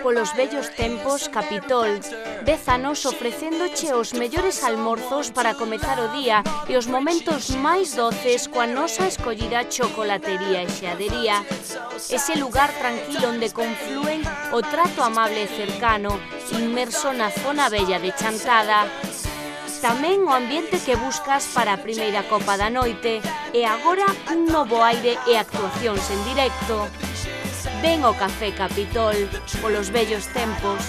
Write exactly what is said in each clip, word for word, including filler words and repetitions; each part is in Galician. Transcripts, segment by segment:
Polos vellos tempos, Capitol, dez anos ofrecéndoche os mellores almorzos para comezar o día e os momentos máis doces coa nosa escollida chocolatería e xeadería. Ese lugar tranquilo onde conflúen o trato amable e cercano, inmerso na zona bella de Chantada. Tamén o ambiente que buscas para a primeira copa da noite e agora un novo aire e actuacións en directo. Ven ao Café Capitol, polos vellos tempos.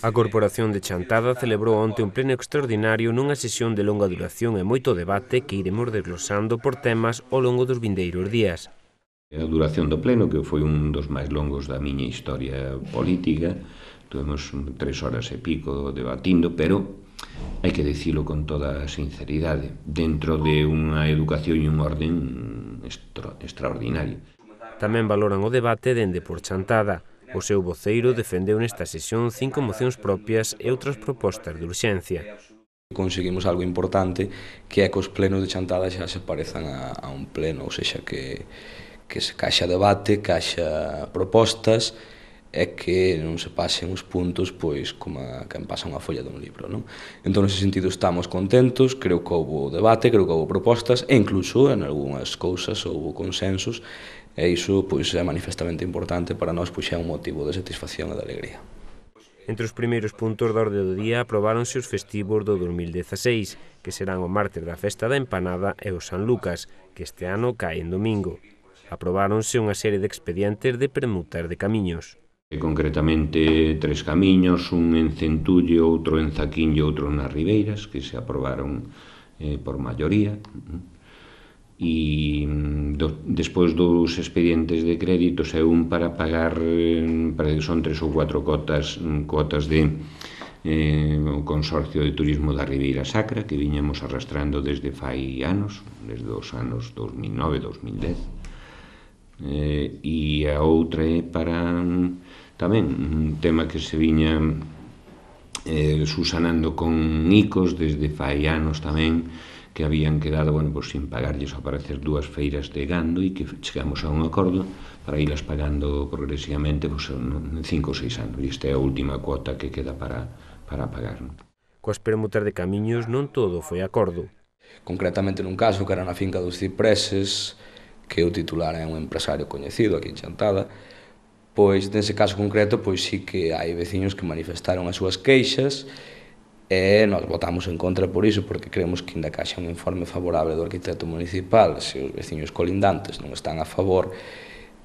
A Corporación de Chantada celebrou onte un pleno extraordinario nunha sesión de longa duración e moito debate que iremos desglosando por temas ao longo dos vindeiros días. A duración do pleno, que foi un dos máis longos da miña historia política, tuvemos tres horas e pico debatindo, pero hai que dicilo con toda a sinceridade, dentro de unha educación e un orden extra, extraordinario. Tamén valoran o debate dende por Chantada. O seu voceiro defendeu nesta sesión cinco mocións propias e outras propostas de urxencia. Conseguimos algo importante, que é que os plenos de Chantada xa se parezan a, a un pleno, ou seja, que, que se caixa debate, caixa propostas, é que non se pasen os puntos pois como a quen pasa unha folla dun libro, non? Entón, nese sentido, estamos contentos, creo que houve debate, creo que houve propostas, e incluso en algunhas cousas houve consensos, e iso pois é manifestamente importante para nós, pois é un motivo de satisfacción e de alegría. Entre os primeiros puntos da orde do día aprobáronse os festivos do dos mil dezaseis, que serán o martes da Festa da Empanada e o San Lucas, que este ano cae en domingo. Aprobáronse unha serie de expedientes de permutas de camiños. Concretamente tres camiños, un en Centullo, outro en Zaquín e outro nas Ribeiras, que se aprobaron eh, por maioría. E do, despois dos expedientes de créditos é un para pagar, eh, para que son tres ou cuatro cotas, cotas de eh, o Consorcio de Turismo da Ribeira Sacra, que viñamos arrastrando desde fai anos, desde os anos dos mil nove a dos mil dez. Eh, e a outra é para tamén un tema que se viña eh, susanando con ICOs desde fai anos tamén, que habían quedado, bueno, pues, sin pagarlles ao parecer dúas feiras de gando e que chegamos a un acordo para irlas pagando progresivamente pues, en cinco ou seis anos, e esta é a última cuota que queda para, para pagar. Coas permutas de camiños non todo foi acordo. Concretamente nun caso que era na finca dos Cipreses, que o titular é un empresario coñecido aquí en Chantada, pois nese caso concreto pois sí que hai veciños que manifestaron as súas queixas e nós votamos en contra por iso, porque creemos que ainda caixa un informe favorable do arquitecto municipal. Se os veciños colindantes non están a favor,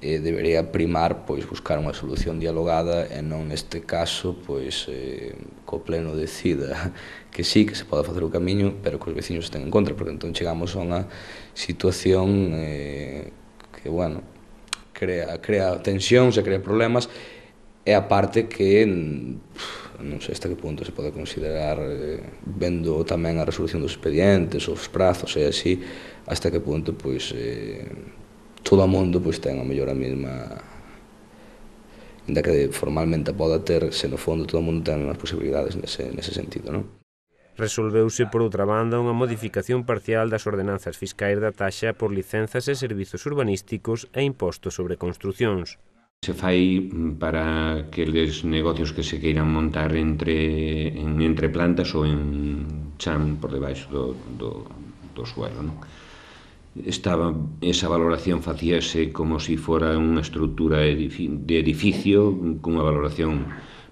eh, debería primar pois buscar unha solución dialogada e non neste caso pois eh, co pleno decida que sí, que se pode facer o camiño, pero que os veciños estén en contra, porque entón chegamos a unha situación eh, que, bueno, crea, crea tensións e crea problemas, e a parte que non sei hasta que punto se pode considerar, eh, vendo tamén a resolución dos expedientes, os prazos e así, hasta que punto pois eh, todo o mundo pois ten a mellor a mesma, ainda que formalmente poda ter, se no fondo todo o mundo ten as posibilidades nese, nese sentido, non? Resolveuse, por outra banda, unha modificación parcial das ordenanzas fiscais da taxa por licenzas e servizos urbanísticos e impostos sobre construcións. Se fai para aqueles negocios que se queiran montar entre, en, entre plantas ou en chan por debaixo do, do, do suelo, non? Estaba, esa valoración facíase como se si fora unha estrutura de edificio cunha valoración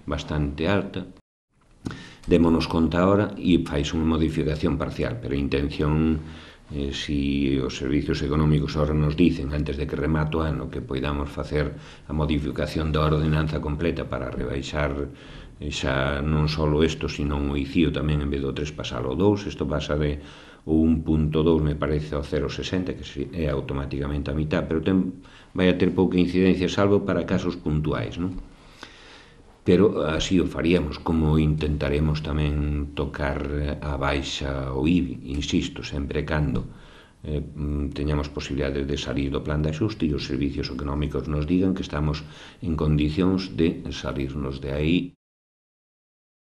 bastante alta. Démonos conta ahora e fais unha modificación parcial, pero a intención, eh, si os servicios económicos ahora nos dicen, antes de que remato o ano, que poidamos facer a modificación da ordenanza completa para rebaixar xa non só isto, sino o I C I O tamén, en vez do tres pasar ao dous, isto pasa de o un punto dous, me parece, ao cero punto sesenta, que é automáticamente a mitad, pero ten, vai a ter pouca incidencia, salvo para casos puntuais, non? Pero así o faríamos, como intentaremos tamén tocar a baixa o I B I, insisto, sempre cando eh, teñamos posibilidades de salir do plan de axuste e os servicios económicos nos digan que estamos en condicións de salirnos de aí.